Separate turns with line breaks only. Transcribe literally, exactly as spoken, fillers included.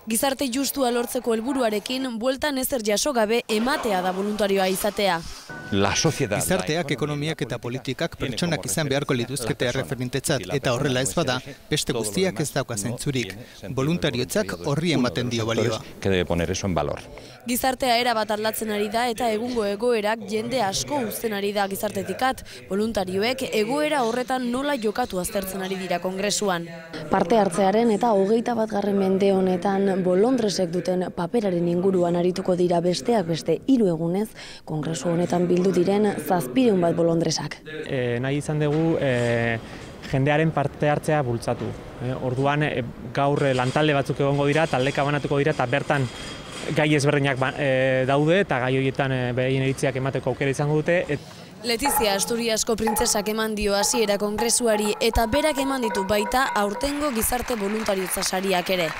Gizarte justua lortzeko helburuarekin, bueltan ezer jaso gabe ematea da voluntarioa izatea.
Gizarteak, ekonomiak eta politikak pertsonak izan beharko lituzkete erreferentetzat, eta horrela ez bada, beste guztiak ez dauka zentzurik. Voluntariotzak horri ematen dio balioa.
Gizartea erabat aldatzen ari da eta egungo egoerak jende asko uzten ari da gizartetikat. Voluntarioek egoera horretan nola jokatu aztertzen ari dira kongresuan.
Parte hartzearen eta hogeita batgarren mende honetan bolondresek duten paperaren inguruan arituko dira besteak beste hiru egunez, kongresu honetan bildu diren zazpiehun bat bolondresak.
E, nahi izan dugu e, jendearen parte hartzea bultzatu. E, orduan e, gaur e, lantalde batzuk egongo dira, taldeka banatuko dira eta bertan gai ezberdinak ba, e, daude eta gai horietan e, behin eritziak emateko aukera izango dute. Et...
Letizia Asturiasko printzesak eman dio hasiera kongresuari eta berak eman ditu baita aurtengo gizarte voluntariotza sariak ere.